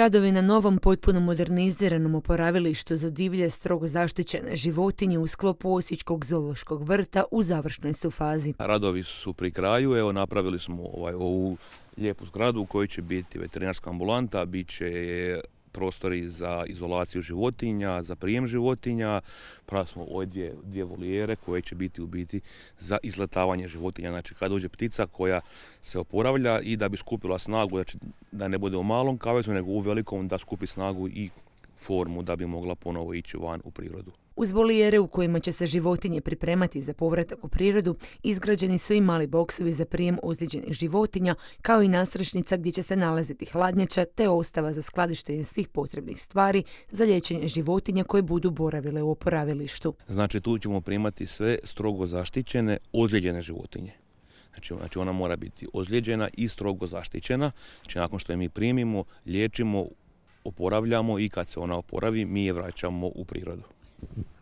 Radovi na novom, potpuno moderniziranom oporavilištu za divlje, strogo zaštićene životinje u sklopu Osječkog zoološkog vrta u završnoj su fazi. Radovi su pri kraju, evo napravili smo ovu lijepu zgradu u kojoj će biti veterinarska ambulanta, bit će prostori za izolaciju životinja, za prijem životinja, pravili smo ove dvije volijere koje će biti u biti za izletavanje životinja. Znači kad dođe ptica koja se oporavlja i da bi skupila snagu, znači da ne bude u malom kavezu nego u velikom, da skupi snagu i formu da bi mogla ponovo ići van u prirodu. Uz volijere u kojima će se životinje pripremati za povratak u prirodu, izgrađeni su i mali boksovi za prijem ozlijeđenih životinja, kao i nasrešnica gdje će se nalaziti hladnjača te ostava za skladištenje svih potrebnih stvari za liječenje životinja koje budu boravile u oporavilištu. Znači tu ćemo primati sve strogo zaštićene, ozlijeđene životinje. Znači ona mora biti ozlijeđena i strogo zaštićena. Znači nakon što je mi primimo, liječimo, oporavljamo i kad se ona oporavi, mi je vraćamo u prirodu.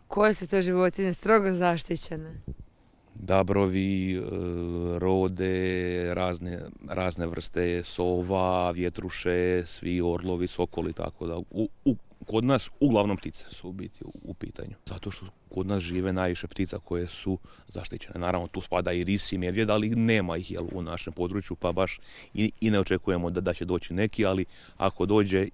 Koje su to životinje strogo zaštićene? Dabrovi, rode, razne vrste sova, vjetruše, svi orlovi, sokoli, tako da kod nas uglavnom ptice su u biti u pitanju. Zato što kod nas žive najviše ptica koje su zaštićene. Naravno tu spada i ris i medvjed, ali nema ih u našem području, pa baš i ne očekujemo da će doći neki, ali ako dođe,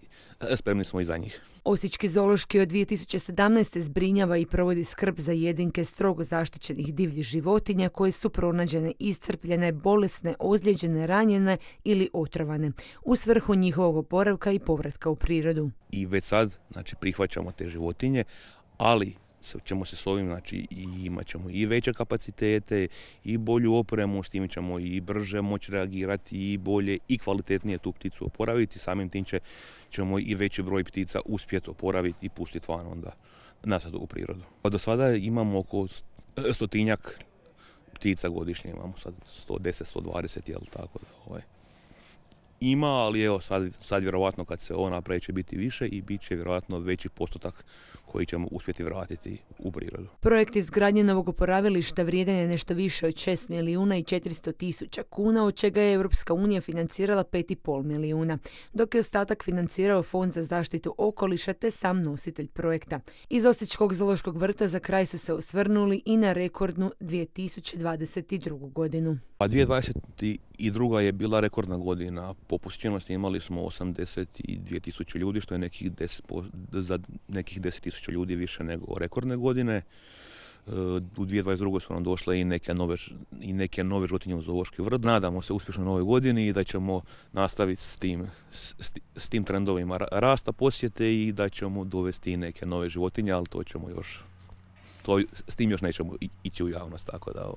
spremni smo i za njih. Osječki zoološki od 2017. zbrinjava i provodi skrb za jedinke strogo zaštićenih divljih životinja koje su pronađene iscrpljene, bolesne, ozlijeđene, ranjene ili otrovane u svrhu njihovog oporavka i povratka u prirodu. I već sad prihvaćamo te životinje, ali ćemo se s ovim, imat ćemo i veće kapacitete i bolju opremu, s tim ćemo i brže moći reagirati i bolje i kvalitetnije tu pticu oporaviti, samim tim ćemo i veći broj ptica uspjeti oporaviti i pustiti van onda nazad u prirodu. Do sada imamo oko 100 ptica godišnje, imamo sad 110, 120, jel tako da ima, ali evo sad vjerovatno kad se ovo napravi će biti više i bit će vjerojatno veći postotak koji ćemo uspjeti vratiti u prirodu. Projekt izgradnje novog oporavilišta vrijedan je nešto više od 6 milijuna i 400 tisuća kuna, od čega je Europska unija financirala 5,5 milijuna, dok je ostatak financirao Fond za zaštitu okoliša te sam nositelj projekta. Iz Osječkog zoološkog vrta za kraj su se osvrnuli i na rekordnu 2022. godinu. A 2022. je bila rekordna godina. Po posjećenosti imali smo 82 tisuće ljudi, što je za nekih 10 tisuća ljudi više nego rekordne godine. U 2022. su nam došle i neke nove životinje u zoološki vrt. Nadamo se uspješnoj novoj godini i da ćemo nastaviti s tim trendovima rasta posjete i da ćemo dovesti i neke nove životinje, ali s tim još nećemo ići u javnost, tako da